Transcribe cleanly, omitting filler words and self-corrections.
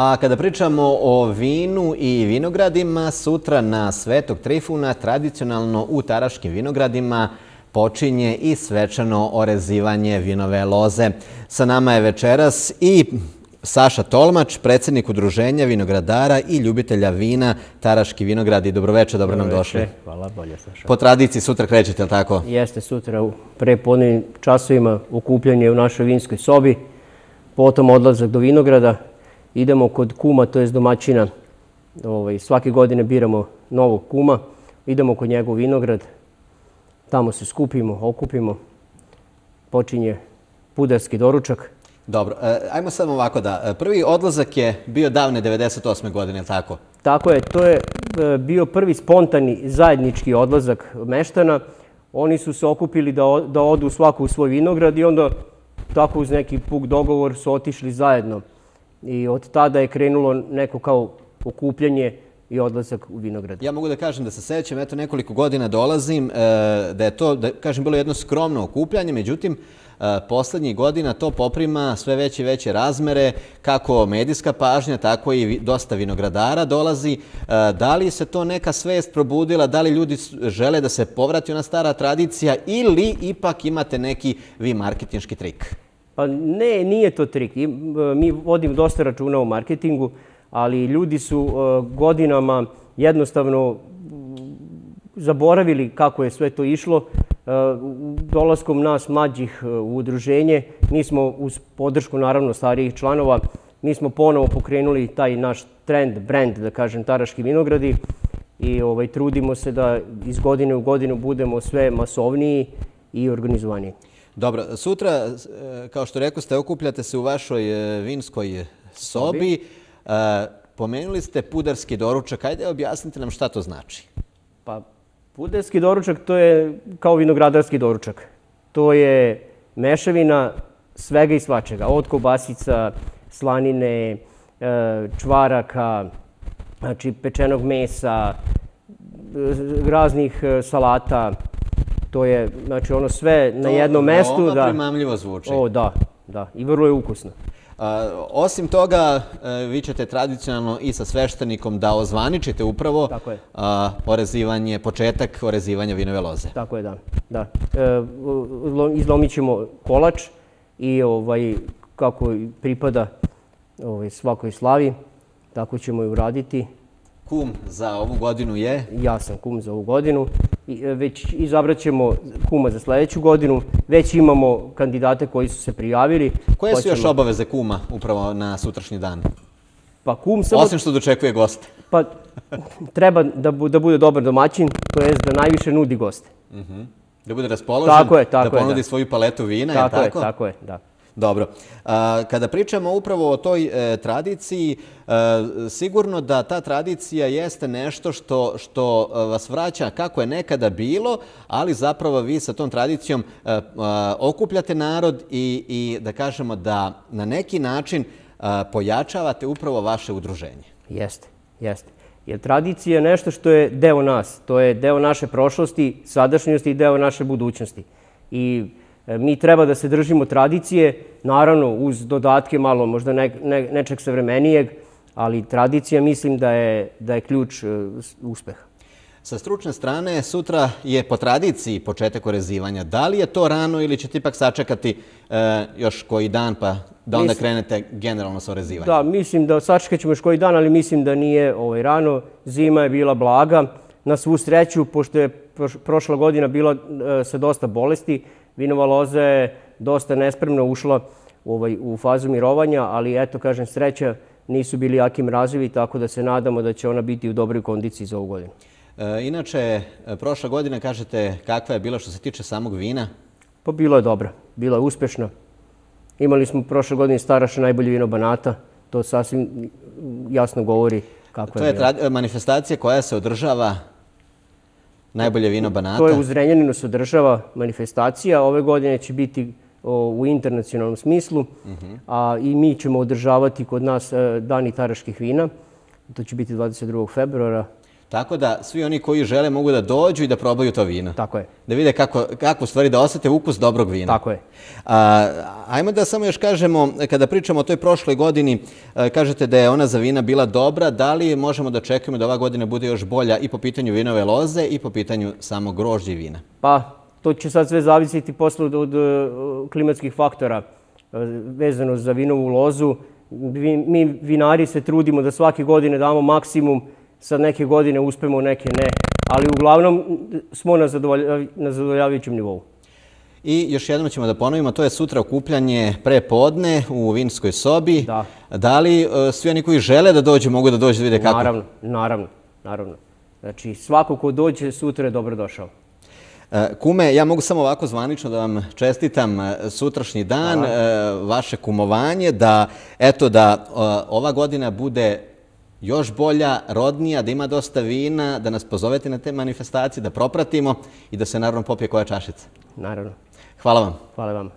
A kada pričamo o vinu i vinogradima, sutra na Svetog Trifuna tradicionalno u Taraškim vinogradima počinje i svečano orezivanje vinove loze. Sa nama je večeras i Saša Tolmač, predsjednik Udruženja vinogradara i ljubitelja vina Taraški vinogradi. Dobroveče, dobro nam došli. Hvala, bolje Saša. Po tradiciji sutra krećete, li tako? Jeste, sutra u prepodnevnim časovima okupljanje u našoj vinskoj sobi, potom odlazak do vinograda. Idemo kod kuma, to jest domaćina. Svake godine biramo novog kuma, idemo kod njegov vinograd, tamo se skupimo, okupimo, počinje pudarski doručak. Dobro, ajmo samo ovako da, prvi odlazak je bio davne 98. godine, je li tako? Tako je, to je bio prvi spontani zajednički odlazak meštana. Oni su se okupili da odu svako u svoj vinograd i onda tako uz neki puk dogovor su otišli zajedno. I od tada je krenulo neko kao okupljanje i odlazak u vinograd. Ja mogu da kažem da se sećam, eto nekoliko godina dolazim, da je to, da kažem, bilo jedno skromno okupljanje, međutim, poslednjih godina to poprima sve veće i veće razmere, kako medijska pažnja, tako i dosta vinogradara dolazi. Da li se to neka svest probudila, da li ljudi žele da se povrati ona stara tradicija ili ipak imate neki vi marketinški trik? Pa ne, nije to trik. Mi vodimo dosta računa o marketingu, ali ljudi su godinama jednostavno zaboravili kako je sve to išlo. Dolaskom nas mlađih u udruženje, mi smo uz podršku naravno starijih članova, mi smo ponovo pokrenuli taj naš trend, brand, da kažem, Taraški vinogradi i trudimo se da iz godine u godinu budemo sve masovniji i organizovaniji. Dobro, sutra, kao što rekao ste, okupljate se u vašoj vinskoj sobi. Pomenuli ste pudarski doručak. Ajde, objasnite nam šta to znači. Pa, pudarski doručak to je kao vinogradarski doručak. To je mešavina svega i svačega. Od kobasica, slanine, čvaraka, znači pečenog mesa, raznih salata. To je, znači, ono sve na jednom mestu. To veoma primamljivo zvuči. O, da, i vrlo je ukusno. Osim toga, vi ćete tradicionalno i sa sveštenikom da ozvaničite upravo orezivanje, početak orezivanja vinove loze. Tako je, da. Izlomit ćemo kolač i kako pripada svakoj slavi, tako ćemo i uraditi. Kum za ovu godinu je? Ja sam kum za ovu godinu. Već izabrat ćemo kuma za sledeću godinu. Već imamo kandidate koji su se prijavili. Koje su još obaveze kuma upravo na sutrašnji dan? Pa kum samo... Osim što dočekuje goste. Pa treba da bude dobar domaćin, to je da najviše nudi goste. Da bude raspoložen, da ponudi svoju paletu vina, je li tako? Tako je, da. Dobro. Kada pričamo upravo o toj tradiciji, sigurno da ta tradicija jeste nešto što vas vraća kako je nekada bilo, ali zapravo vi sa tom tradicijom okupljate narod i da kažemo da na neki način pojačavate upravo vaše udruženje. Jeste. Jer tradicija je nešto što je deo nas. To je deo naše prošlosti, sadašnjosti i deo naše budućnosti. I mi treba da se držimo tradicije, naravno uz dodatke malo možda nečeg savremenijeg, ali tradicija mislim da je ključ uspeha. Sa stručne strane, sutra je po tradiciji početak orezivanja. Da li je to rano ili ćete ipak sačekati još koji dan pa da onda krenete generalno sa orezivanjem? Da, mislim da sačekat ćemo još koji dan, ali mislim da nije rano. Zima je bila blaga. Na svu sreću, pošto je prošla godina bila sa dosta bolesti, vinova loza je dosta nespremno ušla u fazu mirovanja, ali eto, kažem, sreća, nisu bili jaki mrazevi, tako da se nadamo da će ona biti u dobroj kondiciji za ovu godinu. Inače, prošla godina, kažete, kakva je bila što se tiče samog vina? Pa bila je dobra, bila je uspešna. Imali smo prošle godine Staraša najbolje vino Banata, to sasvim jasno govori kako je bila. To je manifestacija koja se održava najbolje vino Banata? To je u Zrenjaninu se održava manifestacija. Ove godine će biti u internacionalnom smislu, a i mi ćemo održavati kod nas Dani Taraških vina. To će biti 22. februara. Tako da svi oni koji žele mogu da dođu i da probaju to vino. Tako je. Da vide kako stvari da osete ukus dobrog vina. Tako je. Ajmo da samo još kažemo, kada pričamo o toj prošloj godini, kažete da je ona za vina bila dobra, da li možemo da očekujemo da ova godina bude još bolja i po pitanju vinove loze i po pitanju samog grožđa i vina? Pa, to će sad sve zavisiti posle od klimatskih faktora vezano za vinovu lozu. Mi vinari se trudimo da svake godine damo maksimum, sad neke godine uspemo, neke ne, ali uglavnom smo na zadovoljavajućem nivou. I još jednom ćemo da ponovimo, to je sutra okupljanje pre podne u vinskoj sobi. Da. Da li svi oni koji žele da dođu mogu da dođu da vide kako? Naravno. Znači, svako ko dođe sutra je dobrodošao. Kume, ja mogu samo ovako zvanično da vam čestitam sutrašnji dan, vaše kumovanje, da ova godina bude još bolja, rodnija, da ima dosta vina, da nas pozovete na te manifestacije, da propratimo i da se naravno popije koja čašica. Naravno. Hvala vam. Hvala vam.